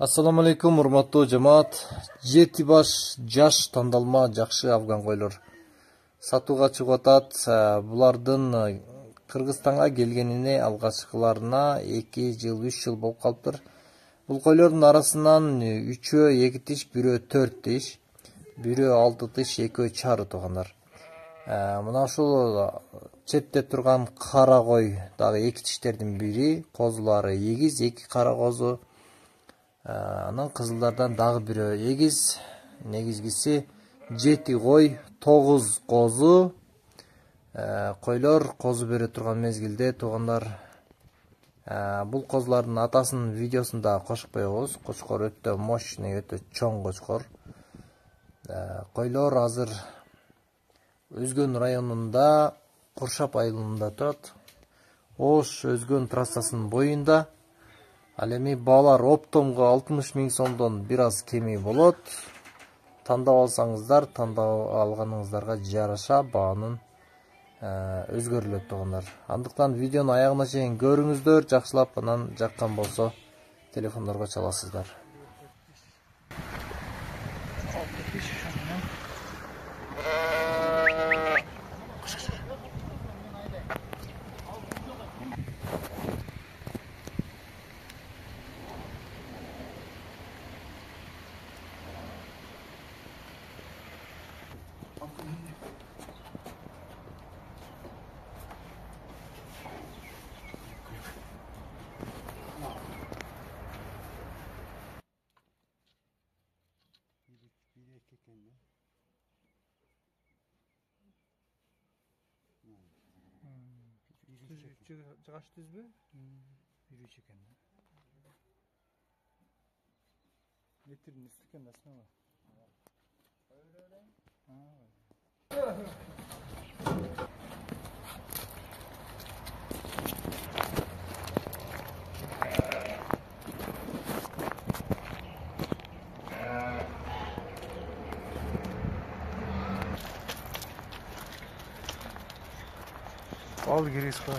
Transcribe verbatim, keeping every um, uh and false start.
Assalamu alaikum, урматтуу жамаат. Жети баш жаш тандалма жакшы афган койлор сатууга чыгып атат. Булардын Кыргызстанга келгенине алгачкыларына эки жыл, үч жыл болуп калыптыр. Бул койлордун арасынан үчөө эки тиш, бирөө төрт тиш, бирөө алты тиш, экөө чары туугандар. Мына ушул четте турган кара кой дагы эки тиштердин бири, козулары эгиз, эки кара козу. Анан кызылдардан дагы бирөө эгиз, негизгиси жети кой, тогуз козу. Койлор козу бере турган мезгилде туугандар. Бул козулардын атасынын видеосун да кошуп коебуз. Кочкор өтө мощный, өтө чоң кочкор. Койлор азыр Өзгөн районунда, Куршап айылында турат. Ош Өзгөн трассасынын боюнда. Ал эми баалар оптомго алтымыш миң сомдон бир аз кеми болот. Тандап алсаңыздар, тандап алганыңыздарга жараша баанын өзгөрүлөт туугандар. Андыктан видеону аягына чейин көрүңүздөр, жакшылап, анан жаккан болсо телефондорго чаласыздар. Жыгаш түзбү? Бир үч экен. Метрдин үстү экен да сынабы. Ал кирис кой.